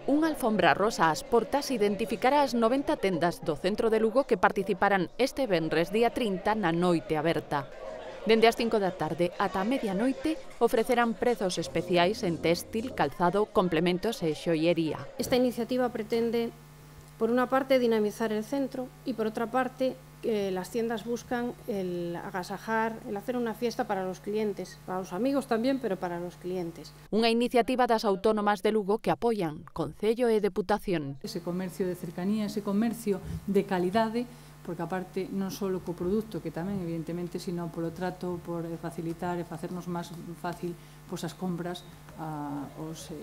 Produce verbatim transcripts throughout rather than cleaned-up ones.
Unha alfombra rosa ás portas identificará as noventa tendas do centro de Lugo que participarán este venres día trinta na noite aberta. Dende as cinco da tarde ata a medianoite ofrecerán prezos especiais en téxtil, calzado, complementos e xoiería. Esta iniciativa pretende, por una parte, dinamizar el centro y, por otra parte, que las tiendas buscan el agasajar, el hacer una fiesta para los clientes, para los amigos también, pero para los clientes. Unha iniciativa das autónomas de Lugo que apoian Concello e Deputación. Ese comercio de cercanía, ese comercio de calidade, porque aparte non só co produto, que tamén evidentemente, sino polo trato, por facilitar e facernos máis fácil pois, as compras aos eh,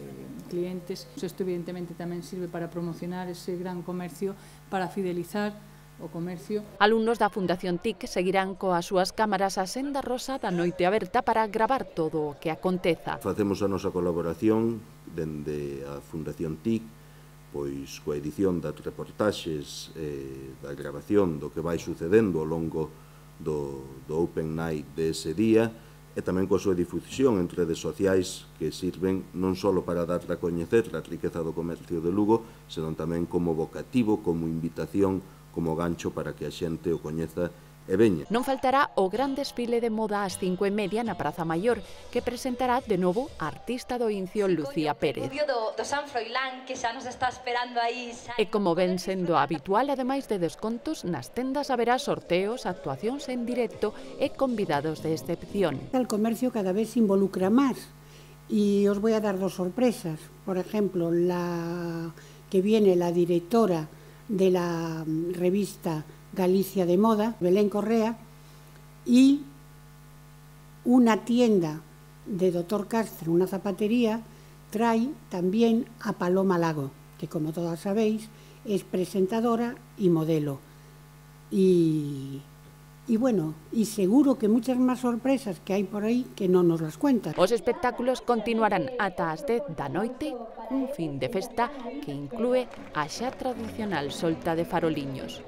clientes. Isto evidentemente tamén sirve para promocionar ese gran comercio, para fidelizar o comercio. Alumnos da Fundación T I C seguirán coas súas cámaras a senda rosa da noite aberta para gravar todo o que aconteza. Facemos a nosa colaboración dende a Fundación T I C, pois coa edición das reportaxes, eh, da grabación do que vai sucedendo ao longo do, do Open Night dese día, e tamén coa súa difusión en redes sociais que sirven non só para dar a coñecer a riqueza do comercio de Lugo, senón tamén como vocativo, como invitación, como gancho para que a xente o coñeza e veña. Non faltará o gran desfile de moda ás cinco e media na Praza Maior, que presentará de novo a artista do Incio Lucía Pérez. Do, do San Froilán, que xa nos está esperando aí. E como ven sendo habitual, ademais de descontos, nas tendas haberá sorteos, actuacións en directo e convidados de excepción. El comercio cada vez se involucra máis y os voy a dar dos sorpresas. Por ejemplo, la que viene la directora de la revista Galicia de Moda, Belén Correa, y una tienda de Doctor Castro, una zapatería, trae también a Paloma Lago, que como todas sabéis es presentadora y modelo. Y, y bueno, y seguro que muchas más sorpresas que hai por aí que non nos las cuentan. Os espectáculos continuarán ata as dez da noite, un fin de festa que inclúe a xa tradicional solta de faroliños.